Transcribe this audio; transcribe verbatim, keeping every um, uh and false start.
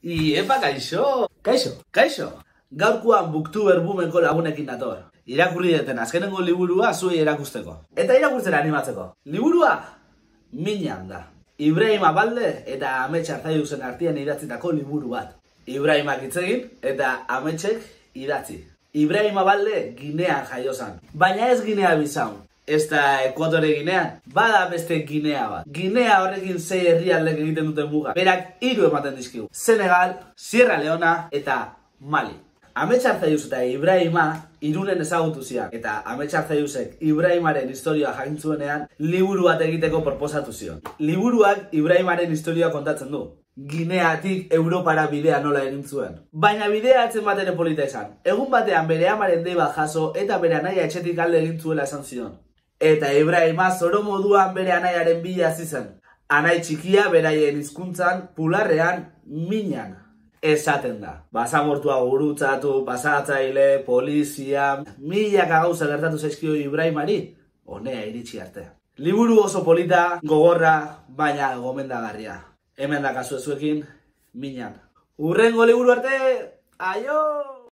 Iepa, kaixo! Kaixo, kaixo! Gaurkoan Booktuber Boomeko lagunekin dator. Irakurri deten azkenengo liburua zuei erakusteko. Eta irakurtzera animatzeko. Liburua Minan da. Ibrahim Abalde eta Amets Arzaiuzen artean idatzitako liburu bat. Ibrahimak hitz egin eta Ametsek idatzi. Ibrahim Abalde Ginean jaio zan. Baina ez Ginea Bisaun. Ez da Ekuatore Ginean, bada beste Ginea bat. Ginea horrekin sei herrialdek egiten duten muga. Berak hiru ematen dizkigu. Senegal, Sierra Leona eta Mali. Amets Arzaius eta Ibrahima Irunen ezagutu zian. Eta Amets Arzaiusek Ibrahimaren historia jakintzuenean liburu bat egiteko proposatu zion. Liburuak Ibrahimaren historia kontatzen du. Gineatik Europara bidea nola egin zuen. Baina bidea atzen bat ere polita izan. Egun batean bere amaren dei bat jaso eta bere anaia etxetik alde egin zuela esan zion. Eta Ibrahima zoro moduan bere anaiaren bila hasi zen. Anai txikia beraien hizkuntzan pularrean Minan esaten da. Basamortua gurutzatu, pasatzaile, polizia, milaka gauza gertatu zaizkio Ibrahimari, honea iritsi arte. Liburu oso polita, gogorra, baina gomendagarria. Hemen da kasu ezuekin, Minan. Hurrengo liburu arte, aio!